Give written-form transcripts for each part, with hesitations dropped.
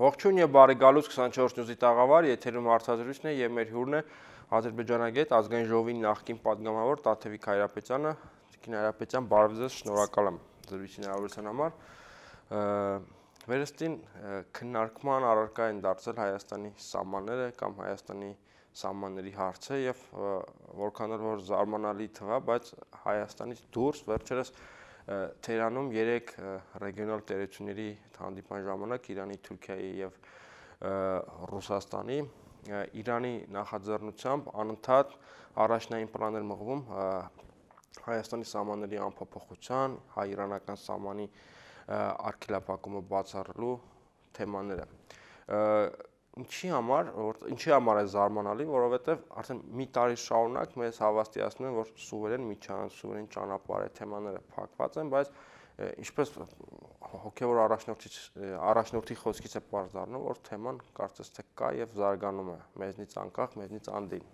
Ողջույն եւ բարի գալուց 24 նյուզի տաղավար, եթերում հարցազրույցն է եւ մեր հյուրն է Ադրբեջանագետ ազգային ժողովի նախկին պատգամավոր Տաթևիկ Հայրապետյանը։ Տիկին Հայրապետյան, բարև ձեզ, շնորհակալ եմ զրույցի հնարավորության համար։ Վերստին քննարկման առարկա են դարձել Հայաստանի սահմանները կամ Հայաստանի սահմանների հարցը եւ որքան որ զարմանալի թվա, բայց Հայաստանից դուրս վերջերս Թեհրանում 3 ռեգիոնալ տերությունների հանդիպման ժամանակ Իրանի, Թուրքիայի եւ Ռուսաստանի Իրանի նախաձեռնությամբ անընդհատ առաջնային պլան էր մղվում Հայաստանի սահմանների անփոփոխության, հայ-իրանական սահմանի արգելափակումը բացառելու թեմաները։ Ինչի համար է զարմանալի, որովհետև արդեն մի տարի շարունակ մեզ հավաստիացնում են, որ սուվերեն միջանց, սուվերեն ճանապարհ է թեմաները փակված են, բայց ինչպես հոգևոր առաջնորդի խոսքից է պարզ դառնում, որ թեման կարծես թե կա եւ զարգանում է, մեզնից անկախ, մեզնից անդին։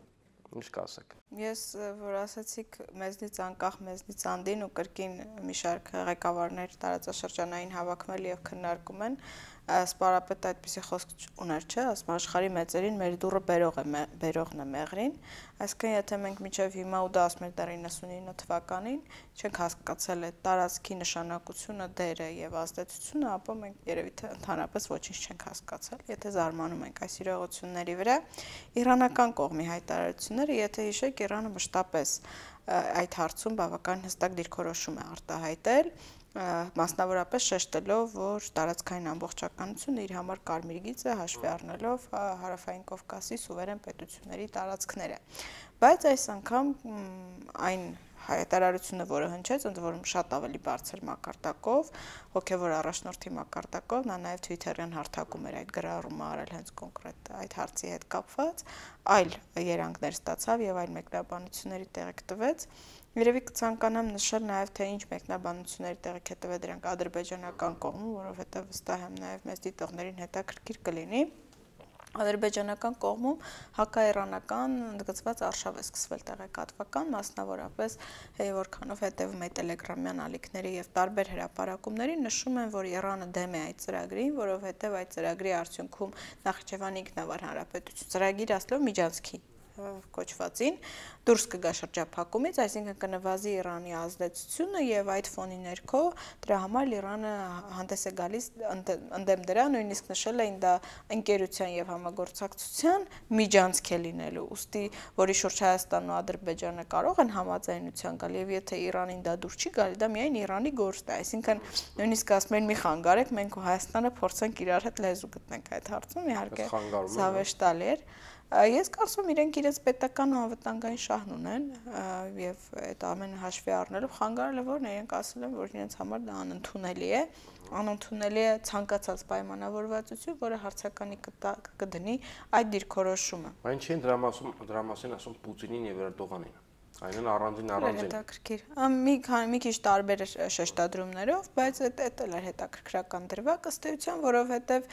Ինչ կասեք։ Ես որ ասացիք մեզնից անկախ, մեզնից անդին ու կրկին մի շարք ղեկավարներ տարածաշրջանային հավաքվել եւ քննարկում են, սպարապետը այդպիսի խոսք ուներ, չէ, ասում աշխարհի մեծերին մեր դուռը բերողն է մեղրին, այսինքն եթե մենք մինչև հիմա ու դա ասում էր դեռ 99 թվականին չենք հասկացել այդ տարածքի նշանակությունը, դերը եւ ազդեցությունը, ապա մենք երևի թե ընդհանրապես ոչինչ չենք հասկացել, եթե զարմանում ենք այս իրողությունների վրա։ Իրանական կողմի հայտարարությունները, եթե հիշեք, Իրանը մշտապես այդ հարցում բավական հստակ դիրքորոշում է արտահայտել, մասնավորապես շեշտելով, որ տարածքային ամբողջականությունը իր համար կարմիր գիծ է, հաշվի առնելով Հարավային Կովկասի սուվերեն պետությունների տարածքները։ Բայց այս անգամ այն հայտարարությունը, որը հնչեց, ընդ որում շատ ավելի բարձր մակարդակով, հոգևոր առաջնորդի մակարդակով, նա նաև Twitter-յան հարթակում էր այդ գրառումը արել հենց կոնկրետ այդ հարցի հետ կապված, այլ երանգներ ստացավ եւ այլ մեկնաբանությունների տեղիք տվեց։ Երևի կցանկանամ նշել նաև թե ինչ մեկնաբանությունների տեղիք է տվել դրանք ադրբեջանական կողմում, որովհետև վստահ եմ նաև մեծ դիտողներին հետաքրքիր կլինի։ Ադրբեջանական կողմում հակաիրանական ընդգծված արշավ է սկսվել տեղեկատվական, մասնավորապես որքանով հետևում է տելեգրամյան ալիքների եւ տարբեր հրապարակումների, նշում են, որ Իրանը դեմ է այդ ծրագրին, որովհետեւ այդ ծրագրի արդյունքում Նախիջևանի ինքնավար հանրապետություն ծրագիր ասելով միջանցքի կոչվածին դուրս կգա շրջափակումից, այսինքն կնվազի Իրանի ազդեցությունը եւ այդ ֆոնի ներքո դրա համար Իրանը հանդես է գալիս ընդդեմ դրա, նույնիսկ նշել էին դա ընկերության եւ համագործակցության միջանցք է լինելու, ուստի որի շուրջ Հայաստանն ու Ադրբեջանը կարող են համաձայնության գալ եւ եթե Իրանին դա դուր չի գալի, դա միայն Իրանի գործ է, այսինքն նույնիսկ ասում են մի խանգարեք, մենք ու Հայաստանը փորձենք իրար հետ լեզու գտնենք այդ հարցում, իհարկե զավեշտալի էր։ Ես կարծում եմ իրենք իրենց պետական ու անվտանգային շահն ունեն եւ այդ ամենը հաշվի առնելով խանգարելը որն է, իրենք ասել են, որ իրենց համար դա անընդունելի է ցանկացած պայմանավորվածություն, որը հարցականի կդնի այդ դիրքորոշումը։ Այն չի դրա մասին ասում Պուտինին եւ Էրդողանին։ Այնն առանձին հետաքրքիր։ Մի քիչ տարբեր շեշտադրումներով, բայց դա էլ էր հետաքրքրական դրվագ ըստ էության, որովհետև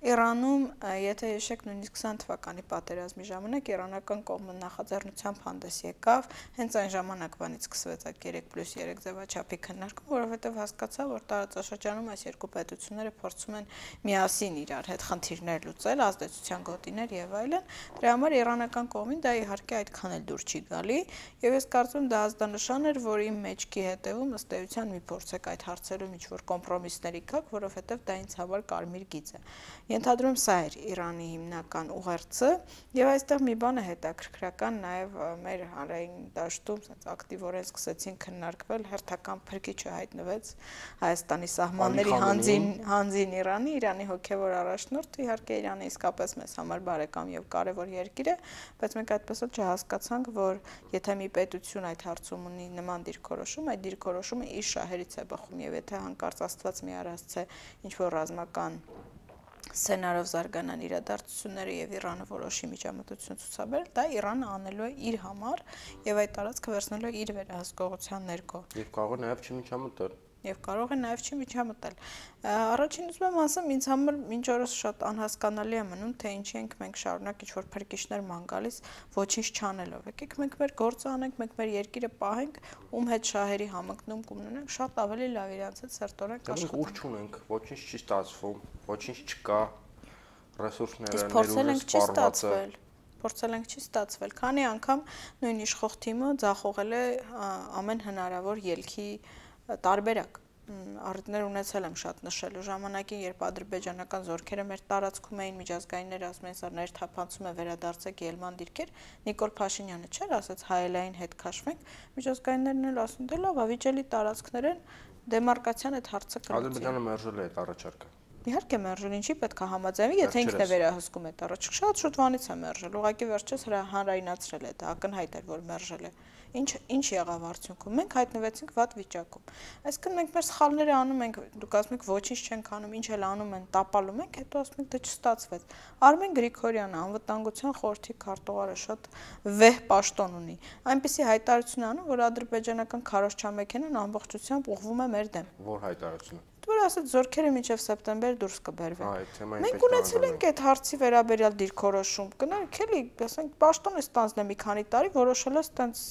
Իրանում, եթե հիշեք, նույնիսկ 20 թվականի պատերազմի ժամանակ իրանական կողմը նախաձեռնությամբ հանդես եկավ, հենց այն ժամանակվանից սկսվեց այդ 3+3 ձևաչափի քննարկում, որովհետև հասկացա, որ տարածաշրջանում այս երկու պետությունները փորձում են միասին իրար հետ խնդիրներ լուծել, ազդեցության գոտիներ եւ այլն։ Դրա համար իրանական կողմին դա իհարկե այդքան էլ դուր չի գալի եւ ես կարծում եմ դա ազդանշան էր, որ իմ մեջքի հետևում ըստ էության մի փորձեք այդ հարցերում ինչ-որ կոմպրոմիսների գաք, որովհետև դա ինձ համար կարմիր գիծ է։ Ենթադրում սա էր Իրանի հիմնական ուղերձը եւ այստեղ մի բան է հետաքրքրական նաեւ մեր հանրային դաշտում ասած ակտիվորեն սկսեցին քննարկվել հերթական փրկիչը հայտնվեց Հայաստանի սահմանների հանձին Իրանի հոգեվոր առաջնորդը, իհարկե Իրանը իսկապես մեզ համար բարեկամ եւ կարեւոր երկիր է, բայց մենք այդպես էլ չհասկացանք, որ եթե մի պետություն այդ հարցում ունի նման դիրքորոշում, այդ դիրքորոշումը իր շահերից է բխում եւ եթե հանկարծ Աստված մի առասցե ինչ-որ ռազմական սցենարով զարգանան իրադարձությունները եւ Իրանը որոշի միջամտություն ցուցաբերել, դա Իրանը անելու է իր համար եւ այդ տարածքը վերցնելու է իր վերահսկողության ներքո։ Եվ կարող է նաեւ չմիջամտել։ Եվ կարող է նաև չմիջամտել։ Առաջին ուզում եմ ասեմ, ինձ համար մինչ օրս շատ անհասկանալի է մնում, թե ինչի ենք մենք շարունակ ինչ-որ փրկիչներ ման գալիս ոչինչ չանելով։ Եկեք մենք մեր գործը անենք, մենք մեր երկիրը պահենք, ում հետ շահերի համընկնում կունենանք, շատ ավելի լավ իրանց հետ սերտորենք աշխատենք։ Մենք ուր չունենք, ոչինչ չի ստացվում, ոչինչ չկա։ ռեսուրսները, փորձել ենք չի սպառվածը։ ստացվել։ Փորձել ենք չի ստացվել։ Քանի անգամ նույն իշխող թիմը ձախողել է ամեն հնարավոր ելքի տարբերակ։ Առիթներ ունեցել եմ շատ նշելու ժամանակին, երբ ադրբեջանական զորքերը մեր տարածքում էին, միջազգայինները ասում էին, սա ներթափանցում է, վերադարձեք ելման դիրքեր, Նիկոլ Փաշինյանը չէր ասաց հայելային հետ քաշվենք, միջազգայիններն էլ ասում դե լավ, ավիճելի տարածքներ են, դեմարկացիան այդ հարցը կլուծի։ Ադրբեջանը մերժել է այդ առաջարկը։ Իհարկե մերժել, ինչի պետք է համաձայնվի, եթե ինքն է վերահսկում այդ առաջ։ Շատ շուտ վանից է մերժել, ուղղակի վերջերս հանրայնացրել է, դա ակնհայտ էր, որ մերժել է։ Ինչ եղավ արդյունքում։ Մենք հայտնվեցինք վատ վիճակում։ Այսինքն մենք մեր սխալները անում ենք, դուք ասում եք ոչինչ չենք անում, ինչ էլ անում են, տապալում ենք, հետո ասում եք դա չստացվեց։ Արմեն Գրիգորյանը, անվտանգության խորհրդի քարտուղարը շատ վեհ պաշտոն ունի։ Այնպիսի հայտարարություն անում, որ ադրբեջանական քարոզչամեքենան ամբողջությամբ ուղղվում է մեր դեմ։ Որ հայտարարությունը։ Որ ասած զորքերը մինչև սեպտեմբեր դուրս կբերվեն։ Մենք Մենք ունեցել ենք այդ հարցի վերաբերյալ դիրքորոշում։ Կներեք, էլի, ասենք, պաշտոնը ստանձնել մի քանի տարի որոշել է ստենց,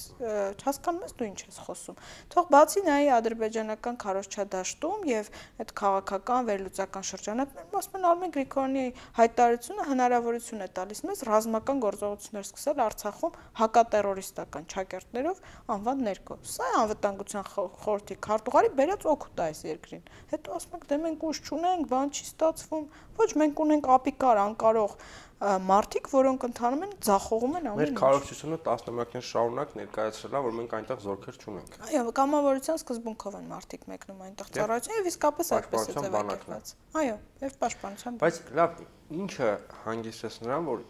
հասկանում ես դու ինչ ես խոսում։ Թող բացի նայի ադրբեջանական քարոզչադաշտում եւ այդ քաղաքական վերլուծական շրջանակներում, ասում են Արմեն Գրիգորյանի հայտարարությունը հնարավորություն է տալիս մեզ ռազմական գործողություններ սկսել Արցախում հակատերորիստական ճակերտներով անվան ներքո։ Սա է անվտանգության խորհրդի քարտուղարի բերած օգուտ այս երկրին։ Հետո ասում եք, դե մենք ուժ չունենք, բան չի ստացվում։ Ոչ, մենք ունենք ապիկար, անկարող մարդիկ, որոնք ընթանում են, ձախողում են ամեն ինչ։ Մեր քարոզչությունը տասնամյակներ շարունակ ներկայացրել է, որ մենք այնտեղ զորքեր չունենք։ Այո, կամավորության սկզբունքով են մարդիկ մեկնում այնտեղ ծառայություն եւ իսկապես այդպես է ձևակերպված։ Այո, եւ պաշտպանության։ Բայց լավ, ինչը հանգեցրեց նրան, որ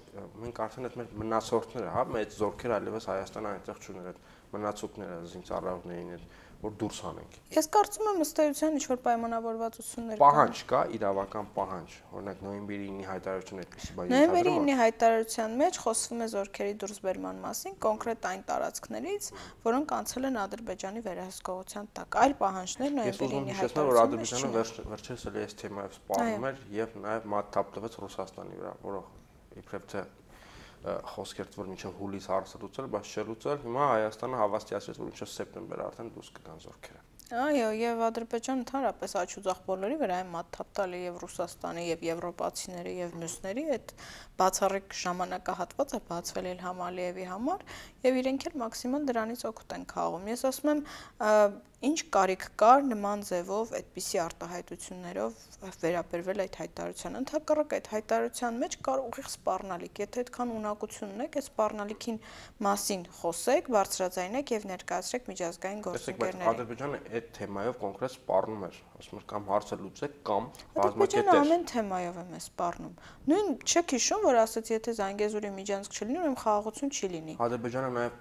մենք արդեն այդ մեր մնացորդները, հա, մեծ զորքեր այլևս Հայաստանը այնտեղ չուներ, այդ մնացուկները, զինծառայողներին այդ որ դուրս հանենք։ Ես կարծում եմ ըստ էության ինչ որ պայմանավորվածություններ կան։ Պահանջ կա, իրավական պահանջ, օրինակ նոյեմբերի 9-ի հայտարարությունը այդպեսի բան Նոյեմբերի 9-ի հայտարարության մեջ խոսվում է զորքերի դուրսբերման մասին, կոնկրետ այն տարածքներից, որոնք անցել են Ադրբեջանի վերահսկողության տակ։ Այլ պահանջներ նոյեմբերի 9-ի հայտարարության որ Ադրբեջանը վերջերս էլի այս թեմայով սպառնում էր եւ նաեւ մատ թափ տվեց Ռուսաստանի վրա, որը իբրև թե խոսքեր որ մինչև հուլիս հարցը լուծել, բայց չլուծել, հիմա Հայաստանը հավաստիացրեց, որ մինչև սեպտեմբեր արդեն դուրս կգան զորքերը։ Այո, եւ Ադրբեջանը ընդհանրապես աչուձախ բոլորի վրա է մատ թափ տալի եւ Ռուսաստանի եւ եվրոպացիների եւ մյուսների այդ բացառիկ ժամանակահատվածը բացվել Իլհամ Ալիևի համար եւ իրենք էլ մաքսիմալ դրանից օգուտ են քաղում։ Ես ասում եմ, ինչ կարիք կար նման ձևով այդպիսի արտահայտություններով վերաբերվել այդ հայտարարությանը։ Ընդհակառակ այդ հայտարարության մեջ կար ուղիղ սպառնալիք։ Եթե այդքան ունակություն ունեք, այդ սպառնալիքին մասին խոսեք, բարձրաձայնեք եւ ներկայացրեք միջազգային գործընկերներին։ Ադրբեջանը այդ թեմայով կոնկրետ սպառնում էր, ասում էր կամ հարցը լուծեք կամ բազմակետեր։ Ադրբեջանը ամեն թեմայով է սպառնում։ Նույն չեք հիշում, որ ասաց, եթե Զանգեզուրի միջանցք չլինի, ուրեմն խաղաղություն չի լինի։ Ադրբեջանը նաեւ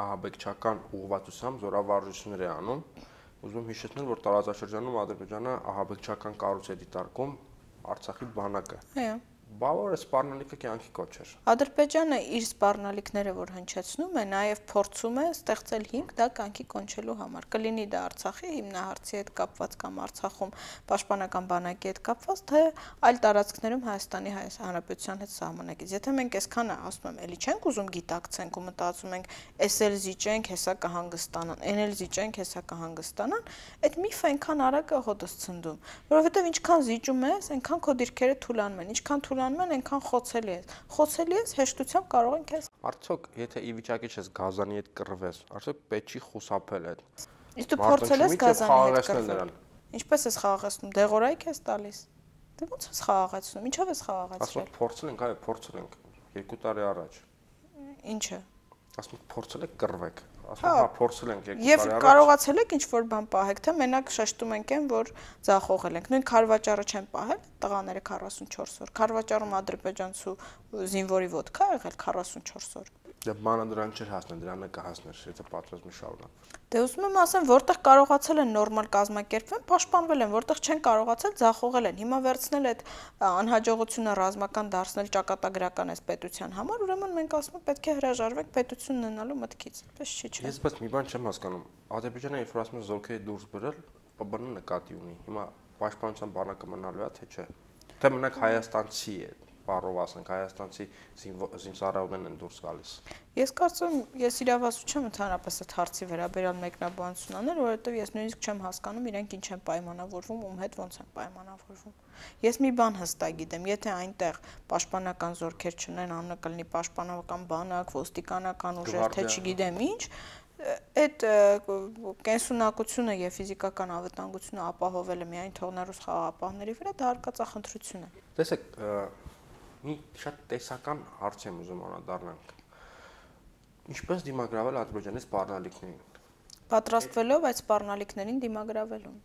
ահաբեկչական ուղղվածությամբ զորավարժություններ է անում։ Ուզում եմ հիշեցնել, որ տարածաշրջանում Ադրբեջանը ահաբեկչական կառույց է դիտարկում Արցախի բանակը։ Այո։ Բավարար սպառնալիքը կյանքի կոչ էր։ Ադրբեջանը իր սպառնալիքները, որ հնչեցնում է, նաև փորձում է ստեղծել հիմք դա կյանքի կոնչելու համար։ Կլինի դա Արցախի հիմնահարցի հետ կապված կամ Արցախում պաշտպանական բանակի հետ կապված, թե այլ տարածքներում Հայաստանի Հանրապետության հետ սահմանակից։ Եթե մենք այսքանը ասում եմ, էլի չենք ուզում գիտակցենք ու մտածում ենք, էս էլ զիջենք, հեսա կհանգստանան, այն էլ զիջենք, հեսա կհանգստանան, այդ միֆը այնքան արագ է հոտս ցնդում, որովհետև ինչքան զիջում ես, այնքան քո դիրքերը թուլանում են, ինչքան թուլանում են, այնքան խոցելի ես։ Խոցելի ես, հեշտությամբ կարող են քեզ։ Արդյոք, եթե ի վիճակի ես Գազանի հետ կռվես, արդյոք պետք չի խուսափել այդ։ Իսկ դու փորձել ես Գազանի հետ կռվել։ Ինչպես ես խաղաղեցնում, դեղորայք ես տալիս։ Դե ո՞նց ես խաղաղեցնում, ինչով ես խաղաղացրել։ Ասում եք փորձել ենք, այո, փորձել ենք 2 տարի առաջ։ Ինչը։ Ասում եք փորձել եք կռվեք։ Ասում հա փորձել ենք 2 տարի առաջ։ Եվ կարողացել եք ինչ-որ բան պահեք, թե մենակ շեշտում ենք այն, որ ձախողել ենք։ Նույն Քարվաճարը չեն պահել, տղաները 44 օր։ Քարվաճարում ադրբեջանցու զինվորի ոդկա ա եղել 44 օր։ Դե բանը դրան չէր հասնել, դրանը կհասներ, եթե պատրաստվում շարունակ։ Դե ուզում եմ ասեմ, որտեղ կարողացել են նորմալ կազմակերպվել, պաշտպանվել են, որտեղ չեն կարողացել, ձախողել են։ Հիմա վերցնել այդ անհաջողությունը ռազմական դարձնել ճակատագրական այս պետության համար, ուրեմն մենք ասում ենք պետք է հրաժարվենք պետություն ունենալու մտքից։ Այդպես չի չէ։ Ես բայց մի բան չեմ հասկանում։ Ադրբեջանը երբ ասում է զորքերի դուրս բերել, ՊԲ-ն նկատի ունի։ Հիմա պաշտպանության բանակը մնալու է, թե չէ։ Թե մենակ հայաստանցի է բառով ասենք հայաստանցի զինծառայողներն են դուրս գալիս։ Ես կարծում ես իրավասու չեմ ընդհանրապես այդ հարցի վերաբերյալ մեկնաբանություն անել, որովհետև ես նույնիսկ չեմ հասկանում իրենք ինչ են պայմանավորվում, ում հետ ոնց են պայմանավորվում։ Ես մի բան հստակ գիտեմ, եթե այնտեղ պաշտպանական զորքեր չունեն, անունը կլինի պաշտպանական բանակ, ոստիկանական ուժեր, թե չգիտեմ ինչ, այդ կենսունակությունը եւ ֆիզիկական անվտանգությունը ապահովելը միայն թողնելով խաղաղապահների վրա դա արկածախնդրություն է։ Տեսեք, մի շատ տեսական հարց եմ ուզում անդրադառնանք։ Ինչպես դիմագրավել Ադրբեջանի սպառնալիքներին։ Պատրաստվելով այդ սպառնալիքներին դիմագրավելուն։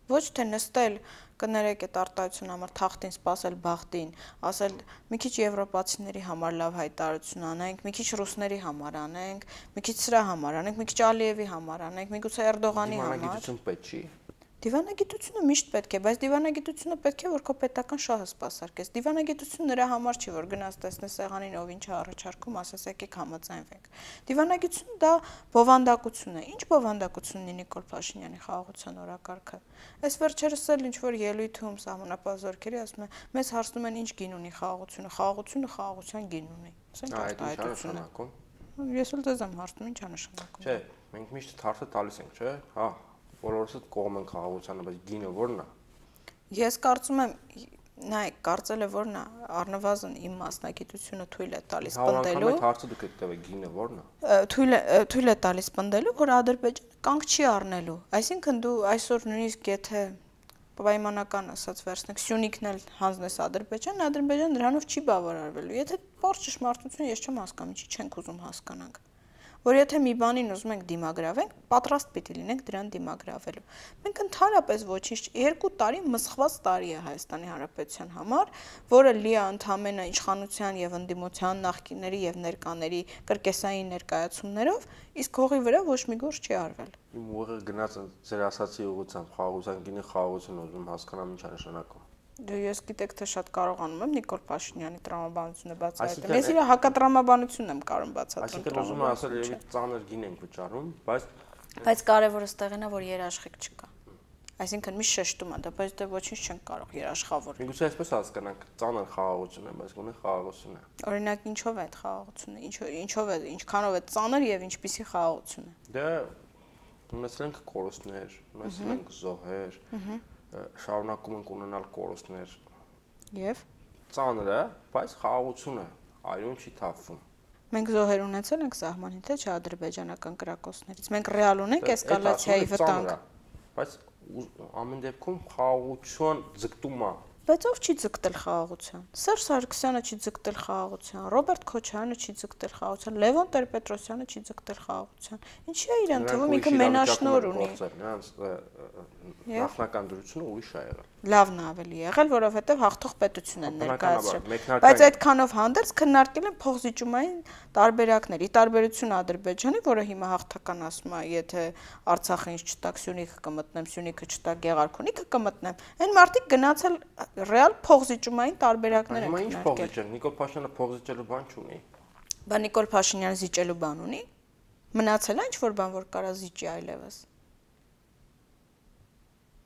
Ոչ թե նստել կներեք այդ արտահայտության համար թախտին սпасել բախտին, ասել մի քիչ եվրոպացիների համար լավ հայտարարություն անենք, մի քիչ ռուսների համար անենք, մի քիչ սրա համար անենք, մի քիչ Ալիևի համար անենք, միգուցե Էրդողանի համար։ Դիվանագիտություն պետք չի։ Դիվանագիտությունը միշտ պետք է, բայց դիվանագիտությունը պետք է որ քո պետական շահը սпасարկես։ Դիվանագիտությունը նրա համար չի, որ գնաս տեսնես սեղանին ով ինչ է առաջարկում, ասես եկեք համաձայնվենք։ Դիվանագիտությունը դա բովանդակություն է։ Ինչ բովանդակություն ունի Նիկոլ Փաշինյանի խաղաղության օրակարգը։ Այս վերջերս էլ ինչ որ ելույթում սահմանապահ զորքերի ասում են, մեզ հարցնում են ինչ գին ունի խաղաղությունը, խաղաղությունը խաղաղության գին ունի։ Ասենք արտահայտությունը։ Ես էլ դες եմ հարցնում ինչ է նշանակում։ Չէ, մենք միշտ հարցը տալիս ենք, չէ՞։ Հա, բոլորս կողմ են խաղաղությանը, բայց գինը ո՞րն է։ Ես կարծում եմ, նայեք, կարծել է ո՞րն է, առնվազն իմ մասնագիտությունը թույլ է տալիս պնդելու։ Այդ հարցը դուք եք տվել գինը ո՞րն է։ Թույլ է տալիս պնդելու, որ Ադրբեջանը կանգ չի առնելու։ Այսինքն դու այսօր նույնիսկ եթե պայմանական ասած վերցնեք Սյունիքն էլ հանձնես Ադրբեջան դրանով չի բավարարվելու։ Եթե բարձ ճշմարտություն ես չեմ հասկանում, ինչի չենք ուզում հասկանանք։ Որ եթե մի բանին ուզում ենք դիմագրավենք, պատրաստ պիտի լինենք դրան դիմագրավելու։ Մենք ընդհանրապես ոչինչ 2 տարի մսխված տարի է Հայաստանի Հանրապետության համար, որը լի է ընդհանրապես իշխանության եւ ընդդիմության նախկինների եւ ներկաների կրկեսային ներկայացումներով, իսկ հողի վրա ոչ մի գործ չի արվել։ Իմ ուղեղը գնաց ձեր ասացի ուղղությամբ խաղաղության գինի խաղաղություն ուզում հասկանամ ինչ է նշանակում։ Ես գիտեք թե շատ կարողանում եմ Նիկոլ Փաշինյանի տրամաբանությունը բացահայտել։ Ես իր հակատրամաբանությունն եմ կարող բացատրել։ Այսինքն ուզում եմ ասել, երևի ծանր գին ենք վճարում, բայց կարևորը ստեղին է, որ երաշխիք չկա։ Այսինքն մի շեշտում է դա, բայց դե ոչինչ չեն կարող երաշխավորել։ Միգուցե այսպես հասկանանք, ծանր խաղաղություն է, բայց գոնե խաղաղություն է։ Օրինակ ինչով է այդ խաղաղությունը, ինչով է, ինչքանով է ծանր եւ ինչպիսի խաղաղություն է։ Դե ունեցել ենք կորուստներ, ունեցել ենք զոհեր, շարունակում ենք ունենալ կորուստներ։ Եվ ծանր է, բայց խաղաղություն է, այլուն չի թափվում։ Մենք զոհեր ունեցել ենք սահմանին, թե չէ ադրբեջանական կրակոցներից։ Մենք ռեալ ունենք էսկալացիայի վտանգ։ Բայց ամեն դեպքում խաղաղություն ձգտում է։ Բայց ով չի ձգտել խաղաղության։ Սերժ Սարգսյանը չի ձգտել խաղաղության, Ռոբերտ Քոչարյանը չի ձգտել խաղաղության, Լևոն Տեր-Պետրոսյանը չի ձգտել խաղաղության։ Ինչի է իրեն թվում ինքը մենաշնոր ունի։ Նախնական դրությունը ուրիշ է եղել։ Լավն է ավելի եղել, որովհետև հաղթող պետություն են ներկայացրել։ Բայց այդքանով հանդերձ քննարկել են փոխզիջումային տարբերակներ։ Ի տարբերություն Ադրբեջանի, որը հիմա հաղթական ասում է, եթե Արցախը ինչ չտակ, Սյունիքը կմտնեմ, Սյունիքը չտակ, Գեղարքունիքը կմտնեմ, այն մարդիկ գնացել ռեալ փոխզիջումային տարբերակներ են քննարկել։ Հիմա ինչ փոխզիջել։ Նիկոլ Փաշինյանը փոխզիջելու բան չունի։ Բա Նիկոլ Փաշինյանը զիջելու բան ունի։ Մնացել է ինչ-որ բան, որ կարա զիջի այլևս։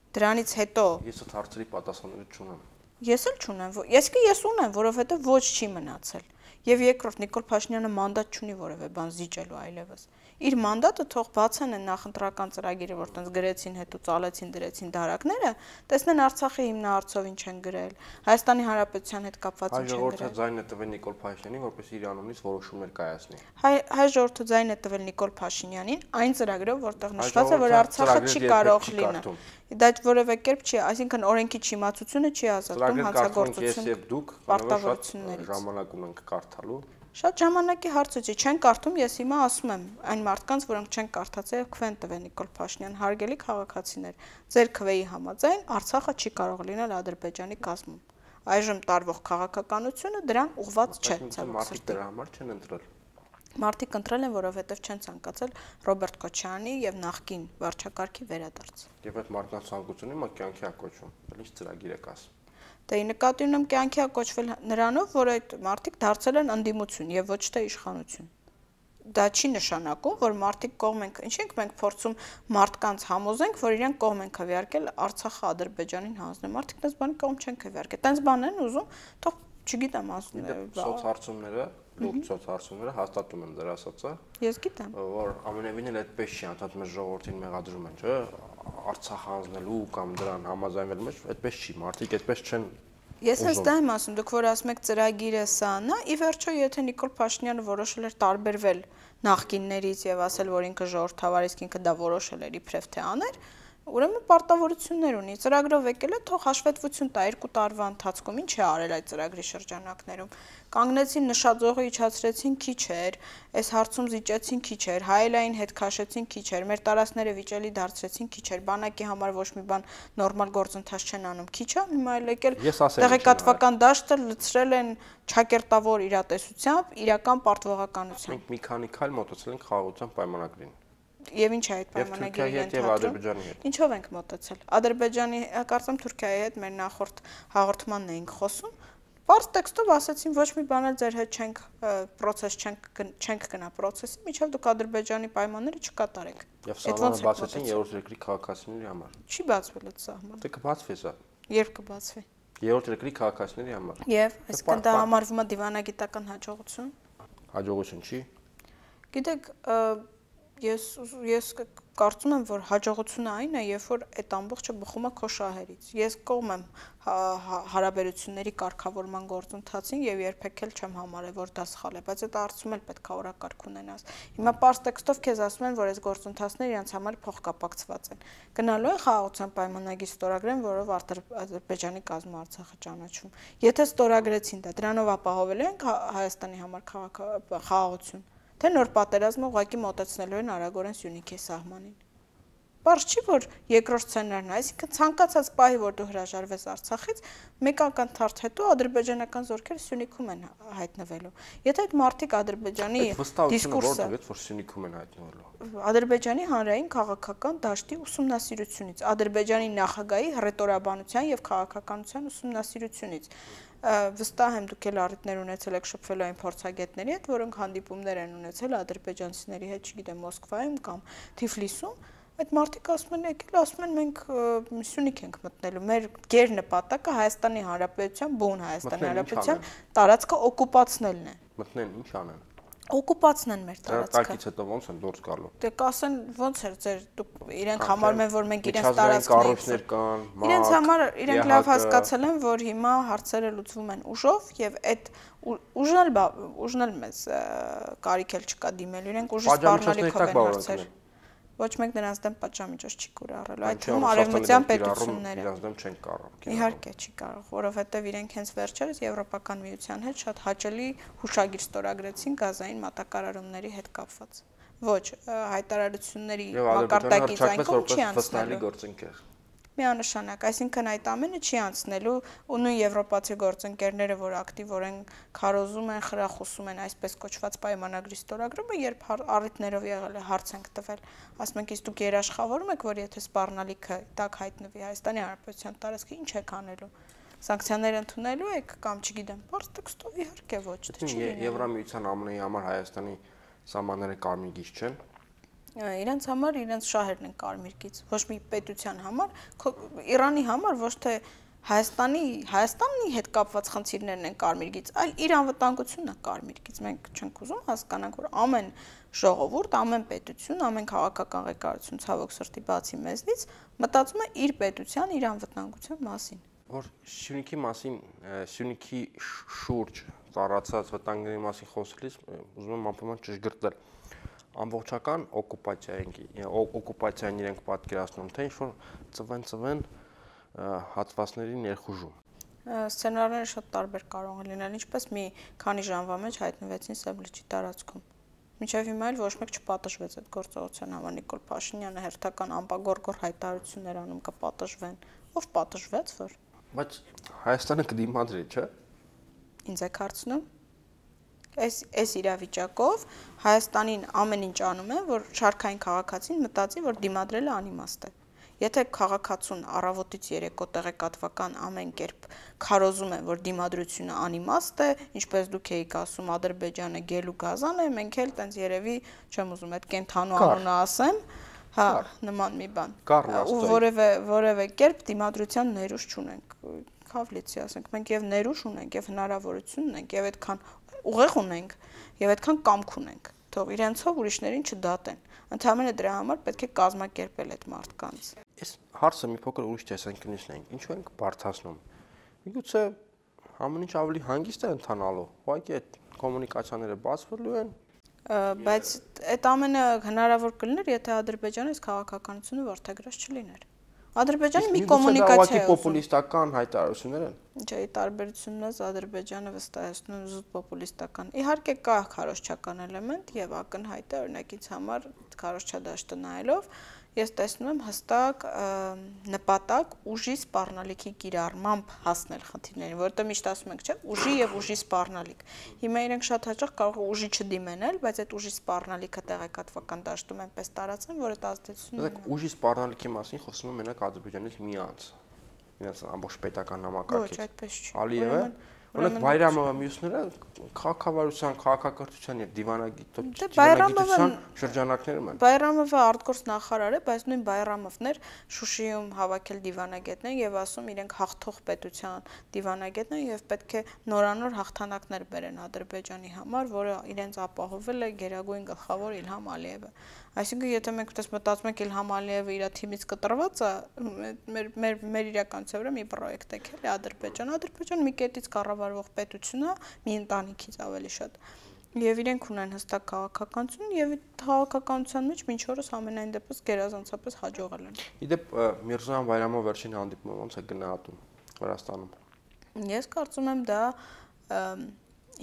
Դրանից հետո ես այդ հարցերի պատասխանատվություն չունեմ։ Ես էլ չունեմ, ես ունեմ, որովհետև ոչ չի մնացել։ Եվ երկրորդ Նիկոլ Փաշինյանը մանդատ չունի որևէ բան զիջելու այլևս։ Իր մանդատը թող բացեն են նախընտրական ծրագիրը, որ տենց գրեցին, հետո ծալեցին, դրեցին դարակները, տեսնեն Արցախի հիմնահարցով ինչ են գրել, Հայաստանի Հանրապետության հետ կապված ինչ են գրել։ Հայ ժողովուրդը ձայն է տվել Նիկոլ Փաշինյանին, որպես իր անունից որոշումներ կայացնի։ Հայ ժողովուրդը ձայն է տվել Նիկոլ Փաշինյանին այն ծրագրով, որտեղ նշված է, որ Արցախը չի կարող լինել։ Դա որևէ կերպ չի, այսինքն օրենքի չիմացությունը չի ազատում հանցագործություն պարտավորություններից։ Ժամանակ ունենք կարդալու։ Շատ ժամանակի հարցը չի, չեն կարդում, ես հիմա ասում եմ այն մարդկանց, որոնք չեն կարդացել, քվեն տվեն Նիկոլ Փաշինյան, հարգելի քաղաքացիներ, ձեր քվեի համաձայն Արցախը չի կարող լինել Ադրբեջանի կազմում։ Այժմ տարվող քաղաքականությունը դրան ուղղված չէ, մարդիկ դրա համար չեն ընտրել։ Մարդիկ ընտրել են, որովհետև չեն ցանկացել Ռոբերտ Քոչարյանի եւ նախկին վարչակարգի վերադարձ։ Եվ այդ մարդկանց ցանկությունը հիմա կյանքի է կոչվում։ Ինչ ծրագիր եք ասում։ Դե նկատի ունեմ կյանքի է կոչվել նրանով, որ այդ մարդիկ դարձել են ընդդիմություն եւ ոչ թե իշխանություն։ Դա չի նշանակում, որ մարդիկ կողմ են, ինչ ենք մենք փորձում մարդկանց համոզենք, որ իրենք կողմ են քվեարկել Արցախը Ադրբեջանին հանձնել։ Մարդիկ դες բանի կողմ չեն քվեարկել։ Տենց բան են ուզում, թող Չգիտեմ ասում սոցհարցումները, լուրջ սոցհարցումները հաստատում են դրա ասածը։ Ես գիտեմ։ Որ ամենևին էլ այդպես չի, անդադ մեր ժողովրդին մեղադրում են, չէ՞, Արցախ հանձնելու կամ դրան համաձայնվելու մեջ, այդպես չի, մարդիկ այդպես չեն։ Ես հենց դա եմ ասում, դուք որ ասում եք ծրագիրը սա, ի վերջո եթե Նիկոլ Փաշինյանը որոշել էր տարբերվել նախկիններից եւ ասել, որ ինքը ժողովրդավար իսկ ինքը դա որոշել էր իբրև թե աներ, ուրեմն պարտավորություններ ունի։ Ծրագրով եկել է, թող հաշվետվություն տա 2 տարվա ընթացքում ինչ է արել այդ ծրագրի շրջանակներում։ Կանգնեցին նշաձողը իջացրեցին քիչ էր, այս հարցում զիջեցին քիչ էր, հայելային հետ քաշեցին քիչ էր, մեր տարածքները վիճելի դարձրեցին քիչ էր, բանակի համար ոչ մի բան նորմալ գործընթաց չեն անում, քիչ է, հիմա էլ եկել տեղեկատվական դաշտը լցրել են ճակերտավոր իրատեսությամբ, իրական պարտվողականությամբ։ Մենք մի քանի քայլ մոտեցել ենք խաղաղության պայմանագրին։ Եվ ինչ է այդ պայմանագիրը ընդհանրում։ Ինչով ենք մոտեցել։ Ադրբեջանի, կարծեմ Թուրքիայի հետ մեր նախորդ հաղորդմանն էինք խոսում։ Պարզ տեքստով ասացին ոչ մի բան էլ ձեր հետ չենք process չենք գնա process-ի, միջև դուք Ադրբեջանի պայմանները չկատարեք։ Եվ սահմանը բացեցին երրորդ երկրի քաղաքացիների համար։ Չի բացվել այդ սահմանը։ Դե կբացվի սա։ Երբ կբացվի։ Երրորդ երկրի քաղաքացիների համար։ Եվ այսինքն դա համարվում է դիվանագիտական հաջողություն։ Հաջողություն չի։ Գիտեք, ես կարծում եմ, որ հաջողությունը այն է, երբ որ այդ ամբողջը բխում է քո շահերից։ Ես կողմ եմ հարաբերությունների կարգավորման գործընթացին եւ երբեք էլ չեմ համարել, որ դա սխալ է, բայց այդ հարցում էլ պետք է օրակարգ ունենաս։ Հիմա պարզ տեքստով քեզ ասում են, որ այս գործընթացները իրենց համար փոխկապակցված են։ Գնալու են խաղաղության պայմանագիր ստորագրեն, որով Ադրբեջանի կազմը Արցախը ճանաչում։ Եթե ստորագրեցին դա, դրանով ապահովելու են Հայաստանի համար խաղաղություն։ Թե նոր պատերազմը ուղղակի մոտեցնելու են արագորեն Սյունիքի սահմանին։ Պարզ չի, որ երկրորդ սցենարն է, այսինքն ցանկացած պահի, որ դու հրաժարվես Արցախից, մեկ ակնթարթ հետո ադրբեջանական զորքերը Սյունիքում են հայտնվելու։ Եթե այդ մարդիկ Ադրբեջանի դիսկուրսը, որ Սյունիքում են հայտնվելու, Ադրբեջանի հանրային քաղաքական դաշտի ուսումնասիրությունից, Ադրբեջանի նախագահի հռետորաբանության եւ քաղաքականության ուսումնասիրությունից վստահ եմ դուք էլ առիթներ ունեցել եք շփվելու այն փորձագետների հետ, որոնք հանդիպումներ են ունեցել ադրբեջանցիների հետ, չգիտեմ, Մոսկվայում կամ Թիֆլիսում, այդ մարդիկ ասում են եկել, ասում են մենք Սյունիք ենք մտնելու, մեր գեր նպատակը Հայաստանի Հանրապետության, բուն Հայաստանի Հանրապետության տարածքը օկուպացնելն է։ Մտնեն ինչ անեն։ Օկուպացնեն մեր տարածքը։ Տարածքից հետո ոնց են դուրս գալու։ Դե կասեն ոնց էր ձեր դուք իրենք համարում են, որ մենք իրենց տարածքներ կան, իրենց համար իրենք լավ հասկացել են, որ հիմա հարցերը լուծվում են ուժով եւ այդ ուժն էլ մեզ կարիք էլ չկա դիմելու, իրենք ուժի սպառնալիքով են հարցեր։ Ոչ մեկ նրանց դեմ պատժամիջոց չի կուրառելու, այդ թվում արևմտյան պետությունները։ Իրենց դեմ չեն կարող։ Իհարկե չի կարող, որովհետև իրենք հենց վերջերս Եվրոպական միության հետ շատ հաճելի հուշագիր ստորագրեցին գազային մատակարարումների հետ կապված։ Ոչ, հայտարարությունների մակարդակից այն կողմ չի անցնելու։ Միանշանակ, այսինքն այդ ամենը չի անցնելու ու նույն եվրոպացի գործընկերները, որ ակտիվորեն քարոզում են, խրախուսում են այսպես կոչված պայմանագրի ստորագրումը, երբ առիթներով եղել է հարց ենք տվել, ասում ենք, իսկ դուք երաշխավորում եք, որ եթե սպառնալիքը տակ հայտնվի Հայաստանի Հանրապետության տարածքը, ինչ եք անելու։ Սանկցիաներ ընդունելու եք կամ չգիտեմ, բարձ տեքստով իհարկե ոչ, թե չի լինելու։ Եվրամիության ԱՄՆ-ի համար Հայաստանի սահմանները կարմիր գիծ չեն։ Իրենց համար իրենց շահերն են կարմիր գիծ, ոչ մի պետության համար, Իրանի համար ոչ թե Հայաստանի հետ կապված խնդիրներն են կարմիր գիծ, այլ իր անվտանգությունն է կարմիր գիծ։ Մենք չենք ուզում հասկանանք, որ ամեն ժողովուրդ, ամեն պետություն, ամեն քաղաքական ղեկավարություն ցավոք սրտի բացի մեզնից մտածում է իր պետության, իր անվտանգության մասին։ Որ Սյունիքի մասին, Սյունիքի շուրջ ծառացած վտանգների մասին խոսելիս ուզում եմ ամփոփման ճշգրտել։ Ամբողջական օկուպացիային իրենք պատկերացնում, թե ինչ-որ ծվեն հատվածների ներխուժում։ Սցենարները շատ տարբեր կարող են լինել, ինչպես մի քանի ժամվա մեջ հայտնվեցին Սևլիչի տարածքում։ Մինչև հիմա էլ ոչ մեկ չպատժվեց այդ գործողության համար, Նիկոլ Փաշինյանը հերթական ամպագորգոր հայտարարություններ անում կպատժվեն։ Ով պատժվեց, որ։ Բայց Հայաստանը կդիմադրի, չէ՞։ Ինձ եք հարցնում։ Այս իրավիճակով Հայաստանին ամեն ինչ անում է, որ շարքային քաղաքացին մտածի, որ դիմադրելը անիմաստ է։ Եթե քաղաքացուն առավոտից երեկո տեղեկատվական ամեն կերպ քարոզում են, որ դիմադրությունը անիմաստ է, ինչպես դուք եք ասում, Ադրբեջանը գելու գազան է, մենք էլ տենց երևի, չեմ ուզում այդ կենթանու անունը ասեմ, նման մի բան։ Ու որևէ կերպ դիմադրության ներուժ չունենք։ հավլիցի, ասենք մենք եւ ներուժ ունենք, եւ հնարավորություն ունենք, եւ այդքան ուղեղ ունենք, եւ այդքան կամք ունենք, թող իրենցով ուրիշներին չդատեն։ Ընդհանրապես դրա համար պետք է կազմակերպել այդ մարդկանց։ Այս հարցը մի փոքր ուրիշ տեսանկյունից նայենք։ Ինչու ենք բարթացնում։ Միգուցե ամեն ինչ ավելի հանգիստ է ընթանալու։ Ուղղակի այդ կոմունիկացիաները բացվելու են։ Բայց այդ ամենը հնարավոր կլիներ, եթե Ադրբեջանը այս քաղաքականությունը որդեգրած չլիներ։ Ադրբեջանը մի կոմունիկացիա է պոպուլիստական հայտարարություններ են։ Չէ, տարբերությունն է Ադրբեջանը վստահեցնում զուտ պոպուլիստական։ Իհարկե կա քարոզչական էլեմենտ եւ ակնհայտ է օրինակից համար քարոզչադաշտը նայելով ես տեսնում եմ հստակ նպատակ ուժի սպառնալիքի կիրառմամբ հասնել խնդիրներին, որովհետեւ միշտ ասում ենք, չէ, ուժի եւ ուժի սպառնալիք։ Հիմա իրենք շատ հաճախ կարող է ուժի չդիմենալ, բայց այդ ուժի սպառնալիքը տեղեկատվական դաշտում այնպես տարածեն, որ այդ ազդեցությունը ունի։ Ուժի սպառնալիքի մասին խոսում եմ մենակ Ադրբեջանից մի անձ։ Իրենց ամբողջ պետական համակարգից։ Ոչ, այդպես չի։ Ալիևը, օրինակ Բայրամովը մյուսները քաղաքավարության, քաղաքակրթության եւ դիվանագիտության շրջանակներում են։ Բայրամովը արտգործ նախարար է, բայց նույն Բայրամովն էր Շուշիում հավաքել դիվանագետներ եւ ասում իրենք հաղթող պետության դիվանագետներ եւ պետք է նորանոր հաղթանակներ բերեն Ադրբեջանի համար, որը իրենց ապահովել է գերագույն գլխավոր Իլհամ Ալիևը։ Այսինքն եթե մենք այդպես մտածում ենք Իլհամ Ալիևը իր թիմից կտրված է, մեր իրականության վրա մի պրոյեկտ է քել Ադրբեջան մի կետից կառավարվող պետություն է, մի ընտանիքից ավելի շատ։ Եվ իրենք ունեն հստակ քաղաքականություն եւ այդ քաղաքականության մեջ մինչ օրս ամենայն դեպս գերազանցապես հաջողել են։ Իդեպ Միրզոյան Բայրամով վերջին հանդիպումը ոնց է գնահատում Վրաստանում։ Ես կարծում եմ դա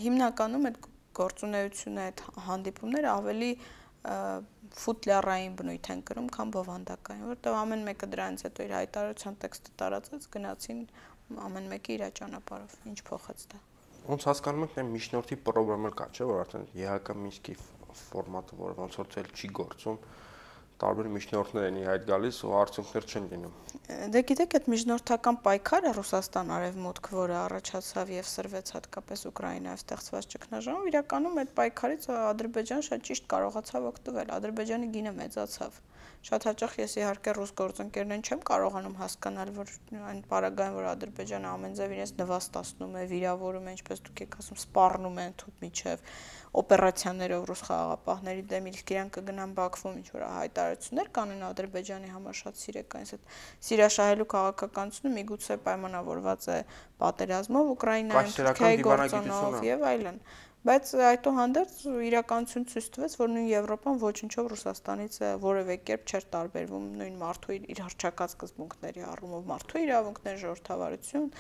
հիմնականում այդ գործունեությունը, այդ հանդիպումները ավելի ֆուտլյարային բնույթ են կրում, քան բովանդակային, որտեղ ամեն մեկը դրանից հետո իր հայտարարության տեքստը տարածեց, գնացին ամեն մեկը իր ճանապարհով, ինչ փոխեց դա։ Ոնց հասկանում եք, միջնորդի պրոբլեմ կա, չէ՞, որ արդեն ԵՀԿ Մինսկի ֆորմատը, որը ոնց որ ցել չի գործում, տարբեր միջնորդներ են իհայտ գալիս ու արդյունքներ չեն լինում։ Դե գիտեք, այդ միջնորդական պայքարը Ռուսաստան-Արևմուտք, որը առաջացավ եւ սրվեց հատկապես Ուկրաինայով ստեղծված ճգնաժամում, իրականում այդ պայքարից Ադրբեջանը շատ ճիշտ կարողացավ օգտվել։ Ադրբեջանի գինը մեծացավ։ Շատ հաճախ ես իհարկե ռուս գործընկերներին չեմ կարողանում հասկանալ, որ այն պարագային, որ Ադրբեջանը ամեն ձև իրենց նվաստացնում է, վիրավորում է, ինչպես դուք եք ասում, սպառնում են թութ միջև օպերացիաներով ռուս խաղաղապահների դեմ, իսկ իրենք կգնան Բաքվում ինչ որ հայտարարություններ կանեն Ադրբեջանի համար շատ սիրեկան, այդ սիրաշահելու քաղաքականությունը միգուցե պայմանավորված է պատերազմով Ուկրաինայում, Թուրքիայի գործոնով եւ այլն։ Բայց այդուհանդերձ իրականություն ցույց տվեց, որ նույն Եվրոպան ոչնչով Ռուսաստանից որևէ կերպ չէր տարբերվում նույն մարդու իր հռչակած սկզբունքների առումով, մարդու իրավունքներ, ժողովրդավարություն,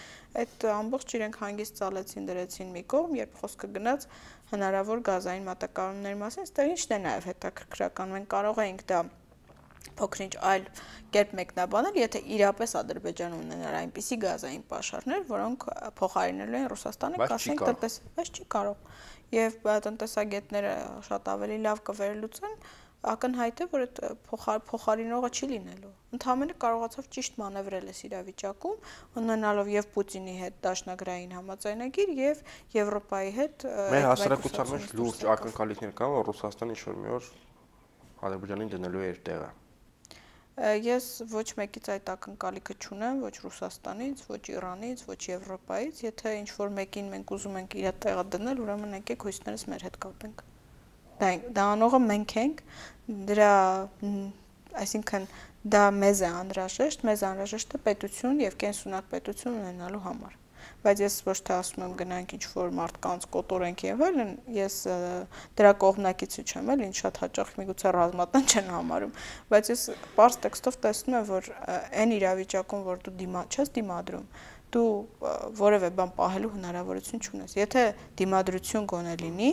այդ ամբողջ իրենք հանգիստ ցալեցին դրեցին մի կողմ, երբ խոսքը գնաց հնարավոր գազային մատակարարումների մասին, այստեղ ինչն է նաև հետաքրքրական, մենք կարող էինք դա փոքրինչ այլ կերպ մեկնաբանել, եթե իրապես Ադրբեջանը ունենար այնպիսի գազային պաշարներ, որոնք փոխարինելու են Ռուսաստանը, կասենք բայց չի կարող։ Եվ տնտեսագետները շատ ավելի լավ կվերլուծեն, ակնհայտ է, որ այդ փոխարինողը չի լինելու։ Ընդհանրապես կարողացավ ճիշտ մանևրել այս իրավիճակում, ունենալով եւ Պուտինի հետ դաշնագրային համաձայնագիր եւ Եվրոպայի հետ մեր հասարակության մեջ լուրջ ակնկալիքներ կան, որ Ռուսաստանը ինչ-որ մի օր Ադրբեջանին դնելու է իր տեղը։ Ես ոչ մեկից այդ ակնկալիքը չունեմ, ոչ Ռուսաստանից, ոչ Իրանից, ոչ Եվրոպայից, եթե ինչ-որ մեկին մենք ուզում ենք իր տեղը դնել, ուրեմն եկեք հույսներս մեր հետ կապենք։ Դա անողը մենք ենք, դրա, այսինքն դա մեզ է անհրաժեշտ է պետություն եւ կենսունակ պետություն ունենալու համար։ Բայց ես ոչ թե ասում եմ գնանք ինչ-որ մարդկանց կոտորենք եւ այլն, ես դրա կողմնակիցը չեմ, էլ ինչ շատ հաճախ միգուցե ռազմատան չեն համարում, բայց ես բարձ տեքստով տեսնում եմ, որ այն իրավիճակում, որ դու չես դիմադրում, դու որևէ բան պահելու հնարավորություն չունես։ Եթե դիմադրություն գոնե լինի,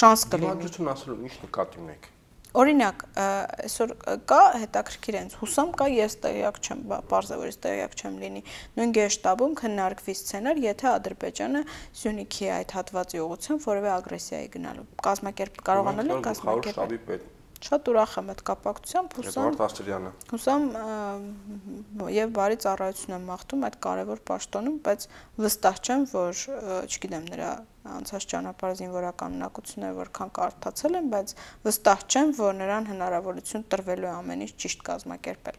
շանս կլինի։ Դիմադրություն ասելու ինչ նկատի ունեք։ Օրինակ, այսօր կա հետաքրքիր այնց հուսամ կա, ես տեղյակ չեմ, պարզավորից տեղյակ չեմ լինի։ Նույն գեշտաբում քննարկվի սցենար, եթե Ադրբեջանը Սյունիքի այդ հատվածի ուղղությամբ որևէ ագրեսիայի գնալու։ Կարողանալ են կազմակերպել։ Շատ ուրախ եմ այդ կապակցությամբ, հուսամ եւ բարի ծառայություն եմ մաղթում այդ կարևոր պաշտոնում, բայց վստահ չեմ, որ, չգիտեմ, նրա անցած ճանապարհ զինվորական ունակությունները որքան կարդացել եմ, բայց վստահ չեմ, որ նրան հնարավորություն տրվելու է ամեն ինչ ճիշտ կազմակերպել։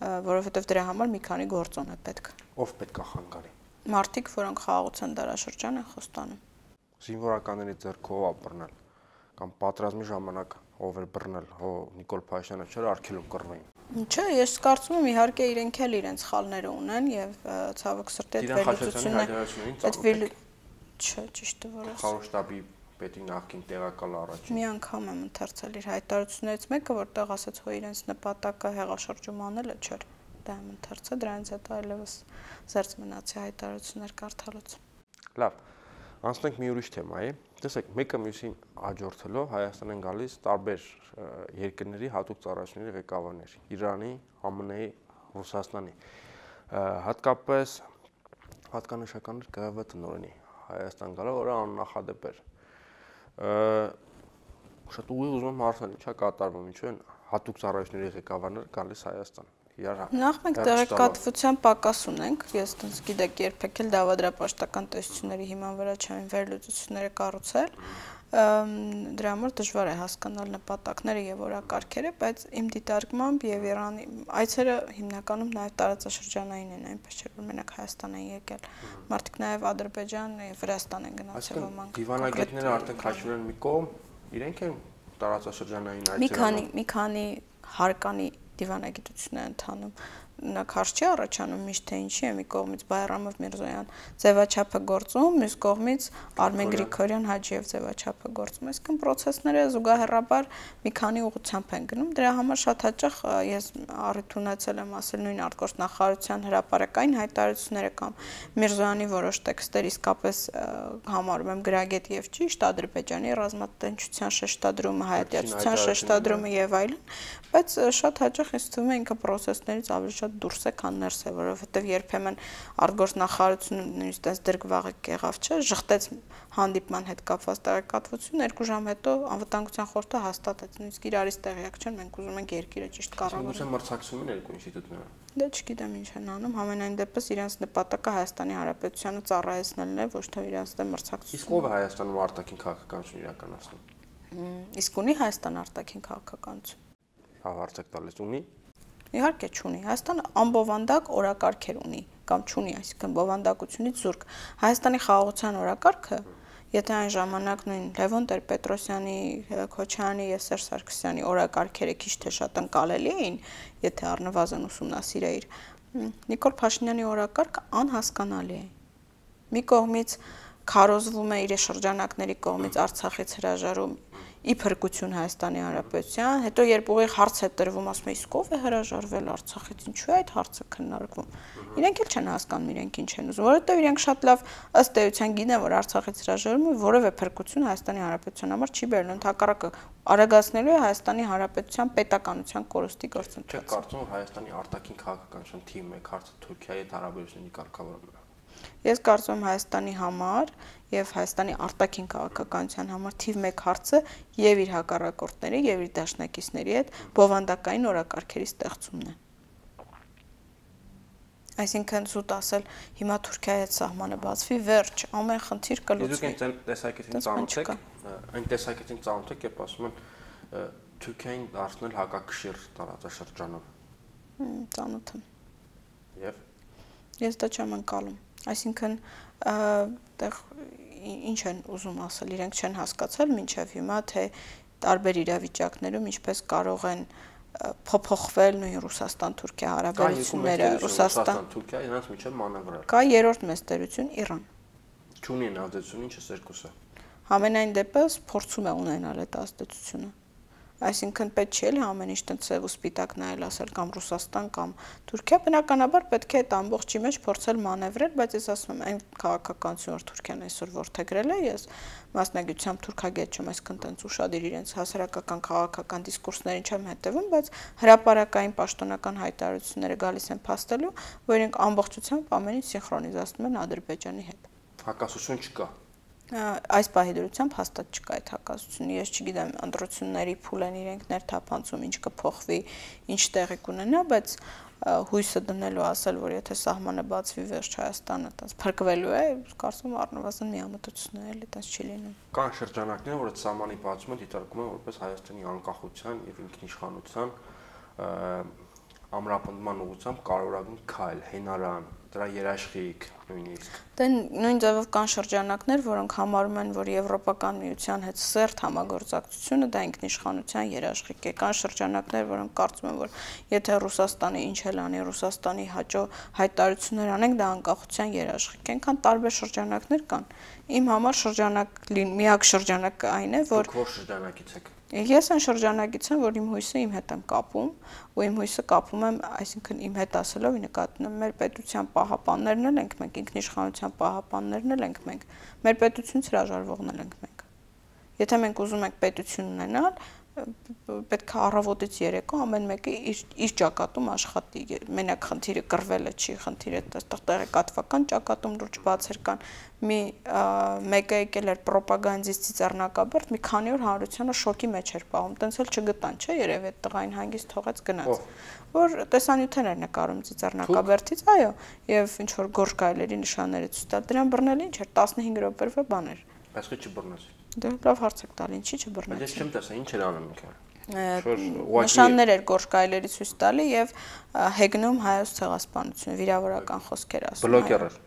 որովհետև դրա համար մի քանի գործոն է պետք։ Ով պետք է խանգարի։ Մարդիկ, որոնք խաղաղության դարաշրջան են խոստանում։ Զինվորականների ձեռքով ապռնել կամ պատրաստի ժամանակ ով էր բռնել, Նիկոլ Փաշինյանը չէր արգելում կռվեին։ Չէ, ես կարծում եմ իհարկե իրենք էլ իրենց խալները ունեն եւ ցավոք սրտի այդ վերլուծությունը Չէ, ճիշտ է որ ես։ Խորհրդաբի պետի նախկին տեղակալ առաջին։ Մի անգամ եմ ընթերցել իր հայտարարություններից մեկը, որտեղ ասաց, որ իրենց նպատակը հեղաշրջում անելը չէր։ Դա եմ ընթերցել, դրանից հետո այլևս զերծ մնացի հայտարարություններ կարդալուց։ Լավ, անցնենք մի ուրիշ թեմայի։ Տեսեք, մեկը մյուսին աջորդելով Հայաստան են գալիս տարբեր երկրների հատուկ ծառայությունների ղեկավարներ՝ Իրանի, ԱՄՆ-ի, Ռուսաստանի։ Հատկապես հատկանշական էր ԿՂՎ տնօրենի Հայաստան գալը, որը աննախադեպ էր։ Շատ ուղիղ ուզում եմ հարցնել, ինչա կատարվում, ինչու են հատուկ ծառայությունների ղեկավարները գալիս Հայաստան։ Նախ մենք տեղեկատվության պակաս ունենք, ես դից գիտեք երբեք էլ դավադրապաշտական տեսությունների հիման վրա չեմ վերլուծությունները կառուցել, դրա համար դժվար է հասկանալ նպատակները եւ օրակարգերը, բայց իմ դիտարկմամբ եւ Իրանի այցերը հիմնականում նաեւ տարածաշրջանային են, այնպես չէ որ մենակ Հայաստան են եկել, մարդիկ նաեւ Ադրբեջան եւ Վրաստան են գնացել ոմանք։ Դիվանագետները արդեն քաշվել են մի կողմ, իրենք են տարածաշրջանային այցերում։ Մի քանի հարկանի դիվանագիտություն է ընթանում, նա քարշ չի առաջանում միշտ թե ինչի է մի կողմից Բայրամով Միրզոյան ձևաչափը գործում, մյուս կողմից Արմեն Գրիգորյան Հաջիև ձևաչափը գործում, այսինքն process-ները զուգահեռաբար մի քանի ուղղությամբ են գնում, դրա համար շատ հաճախ ես առիթ ունեցել եմ ասել նույն արտգործնախարարության հրապարակային հայտարարությունները կամ Միրզոյանի որոշ տեքստեր իսկապես համարում եմ գրագետ եւ ճիշտ, Ադրբեջանի ռազմատնտեսության շեշտադրումը, հայատյացության շեշտադրումը եւ այլն, բայց շատ հաճախ ինձ թվում է ինքը process-ներից ավելի շատ դուրս է, քան ներս է, որովհետև երբեմն արտգործնախարարությունը նույնիսկ այս դրգվաղը եղավ, չէ, ժխտեց հանդիպման հետ կապված տեղեկատվություն, 2 ժամ հետո անվտանգության խորհուրդը հաստատեց, նույնիսկ իրարից տեղյակ չեն, մենք ուզում ենք երկիրը ճիշտ կառավարել։ Ուսում մրցակցում են երկու ինստիտուտները։ Դե չգիտեմ ինչ են անում, համենայն դեպս իրենց նպատակը Հայաստանի Հանրապետությանը ծառայեցնելն է, ոչ թե իրենց դեմ մրցակցություն։ Իսկ ով է Հայաստանում արտաքին քաղաքականություն իրականացնում։ Իսկ ունի Հայաստան արտաքին քաղաքականություն։ Հարցեք տալիս ունի։ Իհարկե չունի։ Հայաստանը անբովանդակ օրակարգեր ունի կամ չունի, այսինքն բովանդակությունից զուրկ։ Հայաստանի խաղաղության օրակարգը, եթե այն ժամանակ նույն Լևոն Տեր-Պետրոսյանի, Քոչարյանի եւ Սերժ Սարգսյանի օրակարգերը քիչ թե շատ ընկալելի էին, եթե առնվազն ուսումնասիրեիր, Նիկոլ Փաշինյանի օրակարգը անհասկանալի է։ Մի կողմից քարոզվում է իր շրջանակների կողմից Արցախից հրաժարում ի փրկություն Հայաստանի Հանրապետության, հետո երբ ուղիղ հարց է տրվում, ասում է իսկ ով է հրաժարվել Արցախից, ինչու է այդ հարցը քննարկվում։ Իրենք էլ չեն հասկանում իրենք ինչ են ուզում, որովհետև իրենք շատ լավ ըստ էության գիտեն, որ Արցախից հրաժարումը որևէ փրկություն Հայաստանի Հանրապետության համար չի բերելու, ընդհակառակը արագացնելու է Հայաստանի Հանրապետության պետականության կորստի գործընթացը։ Չեք կարծում, որ Հայաստանի արտաքին քաղաքականության թիմը հարցը Թուրքիայի հետ հարաբերությունների կարգավորումն է։ Ես կարծում եմ Հայաստանի համար եւ Հայաստանի արտաքին քաղաքականության համար թիվ 1 հարցը եւ իր հակառակորդների եւ իր դաշնակիցների հետ բովանդակային օրակարգերի ստեղծումն է։ Այսինքն զուտ ասել հիմա Թուրքիայի հետ սահմանը բացվի, վերջ, ամեն խնդիր կլուծվի։ Իսկ այն տեսակետին ծանոթ եք, այն տեսակետին ծանոթ եք, երբ ասում են Թուրքիային դարձնել հակակշիռ տարածաշրջանում։ Ծանոթ եմ։ Եվ ես դա չեմ անցալում։ Այսինքն այդտեղ ինչ են ուզում ասել, իրենք չեն հասկացել մինչև հիմա, թե տարբեր իրավիճակներում ինչպես կարող են փոփոխվել նույն Ռուսաստան-Թուրքիա հարաբերությունները, Ռուսաստան-Թուրքիա իրենց միջև մանևրել։ Կա երրորդ մեծ տերություն Իրան։ Չունի ազդեցություն, ինչը երկուսը։ Համենայն դեպս փորձում է ունենալ այդ ազդեցությունը։ Այսինքն պետք չէ ամեն ինչ տնցև ու սպիտակ նայել ասել կամ Ռուսաստան կամ Թուրքիա, բնականաբար պետք է այդ ամբողջի մեջ փորձել մանևրել, բայց ես ասում եմ այն քաղաքականություն, որ Թուրքիան այսօր որդեգրել է, ես մասնագիտությամբ թուրքագետ չեմ, այսինքն տենց ուշադիր իրենց հասարակական քաղաքական դիսկուրսներին չեմ հետևում, բայց հրապարակային պաշտոնական հայտարարությունները գալիս են փաստելու, որ իրենք ամբողջությամբ ամեն ինչ սինխրոնիզացնում են Ադրբեջանի հետ։ Հակասություն չկա։ Այս պահի դրությամբ հաստատ չկա այդ հակասությունը, ես չգիտեմ, ընտրությունների փուլ են իրենք ներթափանցում, ինչ կփոխվի, ինչ տեղի կունենա, բայց հույսը դնելու ասել, որ եթե սահմանը բացվի վերջ Հայաստանը այդպես փրկվելու է, կարծում եմ առնվազն միամտություն է, էլի այդպես չի լինում։ Կան շրջանակներ, որ այդ սահմանի բացումը դիտարկում են որպես Հայաստանի անկախության եւ ինքնիշխանության ամրապնդման ուղղությամբ կարևորագույն քայլ, հենարան, դրա երաշխիք նույնիսկ։ Դե նույն ձևով կան շրջանակներ, որոնք համարում են, որ Եվրոպական միության հետ սերտ համագործակցությունը դա ինքնիշխանության երաշխիք է։ Կան շրջանակներ, որոնք կարծում են, որ եթե Ռուսաստանը ինչ էլ անի, Ռուսաստանի հաճո հայտարարություններ անենք, դա անկախության երաշխիք է։ Այնքան տարբեր շրջանակներ կան։ Իմ համար միակ շրջանակը այն է, որ Դուք ո՞ր շրջանակից եք։ Ես այն շրջանակից եմ, որ իմ հույսը իմ հետ եմ կապում, ու իմ հույսը կապում եմ, այսինքն իմ հետ ասելով, նկատում եմ մեր պետության պահապաններն էլ ենք մենք, ինքնիշխանության պահապաններն էլ ենք մենք, մեր պետությունից հրաժարվողն էլ ենք մենք։ Եթե մենք ուզում ենք պետություն ունենալ, պետք է առավոտից երեկո ամեն մեկը իր ճակատում աշխատի։ Մենակ խնդիրը կռվելը չի, խնդիրը այստեղ տեղեկատվական ճակատում լուրջ բացեր կան։ Մեկը եկել էր ռոպագանդիստի ծիծեռնակաբերդ, մի քանի օր հանրությանը շոկի մեջ էր պահում, տենց էլ չգտան, չէ, երևի այդ տղային հանգիստ թողեց գնաց։ Որ տեսանյութեր էր նկարում ծիծեռնակաբերդից, այո, եւ ինչ որ գորշ գայլերի նշանները ցույց տալ։ Դրան բռնել ինչ էր 15 րոպեվա բան էր։ Բայց քիչ չբռնեցի։ Դե լավ հարց եք տալ, ինչի չբռնեցի։ Բայց ես չեմ տեսա, ինչ էր անում ինքը։ Նշաններ էր գորշ գայլերի ցույց տալի եւ հեգնում հայոց ցեղասպանությունը, վիրավորական խոսքեր ասում։ Բլոգեր էր։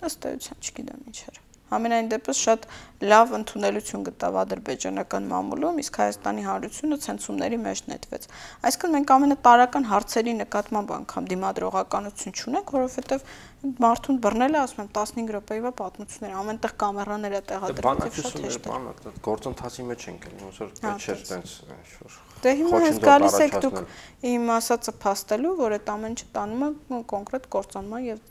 Ըստ էության չգիտեմ ինչ էր։ Համենայն դեպս շատ լավ ընդունելություն գտավ ադրբեջանական մամուլում, իսկ Հայաստանի Հանրությունը ցենզումների մեջ նետվեց։ Այսինքն մենք ամենատարրական հարցերի նկատմամբ անգամ դիմադրողականություն չունենք, որովհետև մարդուն բռնել է, ասում եմ, 15 րոպեվա պատմություններ, ամենտեղ կամերաներ է տեղադրված, շատ հեշտ է։ Գործընթացի մեջ ենք, ոնց որ պետք չէ տենց ինչ-որ։ Դե հիմա հենց գալիս եք դուք իմ ասածը փաստելու, որ այդ ամեն ինչը տանում է կոնկրետ կործանման եւ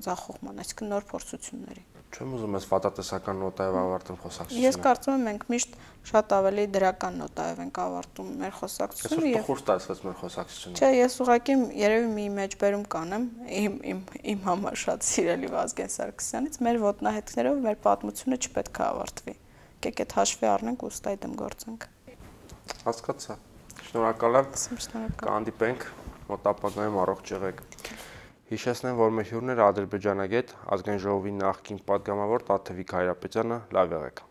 ձախողման, այսինքն նոր փորձությունների։ Չեմ ուզում ես վատատեսական նոտայով ավարտել խոսակցությունը։ Ես կարծում եմ մենք միշտ շատ ավելի դրական նոտայով ենք ավարտում մեր խոսակցությունը եւ խորտ ստացվեց մեր խոսակցությունը։ Չէ, ես ուղղակի երևի մի մեջբերում կանեմ իմ համար շատ սիրելի Վազգեն Սարգսյանից, մեր ոտնահետքներով մեր պատմությունը չպետք է ավարտվի։ Եկեք այդ հաշվի առնենք ու ստայ դեմ գործենք։ Հասկացա։ Շնորհակալ եմ։ Շնորհակալ։ Կհանդիպենք մոտ ապագայում, առողջ եղեք։ Հիշեցնեմ, որ մեր հյուրն էր ադրբեջանագետ, ազգային ժողովի նախկին պատգամավոր Տաթևիկ Հայրապետյանը, լավ եղեք։